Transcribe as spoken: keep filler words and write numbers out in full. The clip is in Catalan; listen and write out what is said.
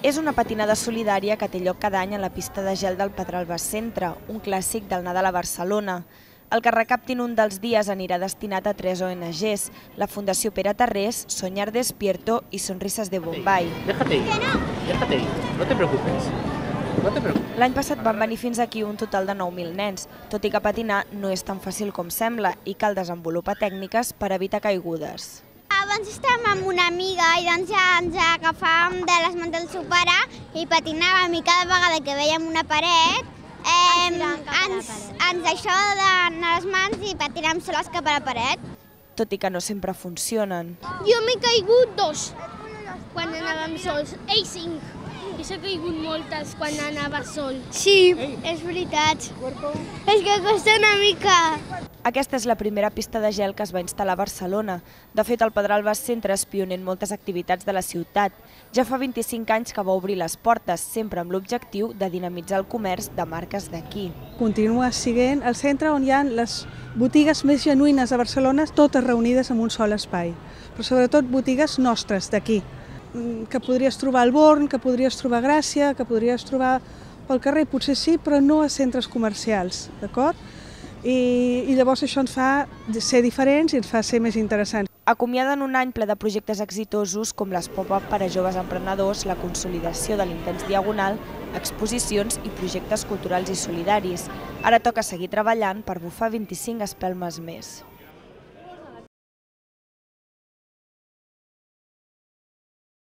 És una patinada solidària que té lloc cada any a la pista de gel del Pedralbes Centre, un clàssic del Nadal a Barcelona. El que recaptin un dels dies anirà destinat a tres O N Ges, la Fundació Pere Tarrés, Soñar Despierto i Sonrisas de Bombay. Déjate ir, déjate ir, no te preocupes. No te preocupes. L'any passat van venir fins aquí un total de nou mil nens, tot i que patinar no és tan fàcil com sembla i cal desenvolupar tècniques per evitar caigudes. Abans estàvem amb una amiga i doncs ja ens agafàvem de les mans del seu pare i patinàvem i cada vegada que vèiem una paret eh, ens, ens això d'anar a les mans i patinàvem soles cap a la paret. Tot i que no sempre funcionen. Jo m'he caigut dos quan anàvem sols, ell cinc. I s'ha caigut moltes quan anava sol. Sí, és veritat. És que costa una mica. Aquesta és la primera pista de gel que es va instal·lar a Barcelona. De fet, el Pedralbes Centre és pioner en moltes activitats de la ciutat. Ja fa vint-i-cinc anys que va obrir les portes, sempre amb l'objectiu de dinamitzar el comerç de marques d'aquí. Continua sent el centre on hi ha les botigues més genuïnes de Barcelona, totes reunides en un sol espai. Però sobretot botigues nostres, d'aquí, que podries trobar al Born, que podries trobar a Gràcia, que podries trobar pel carrer, potser sí, però no a centres comercials, d'acord? I, I llavors això ens fa ser diferents i ens fa ser més interessants. Acomiaden un any ple de projectes exitosos com les pop-up per a joves emprenedors, la consolidació de l'Intens Diagonal, exposicions i projectes culturals i solidaris. Ara toca seguir treballant per bufar vint-i-cinc espelmes més.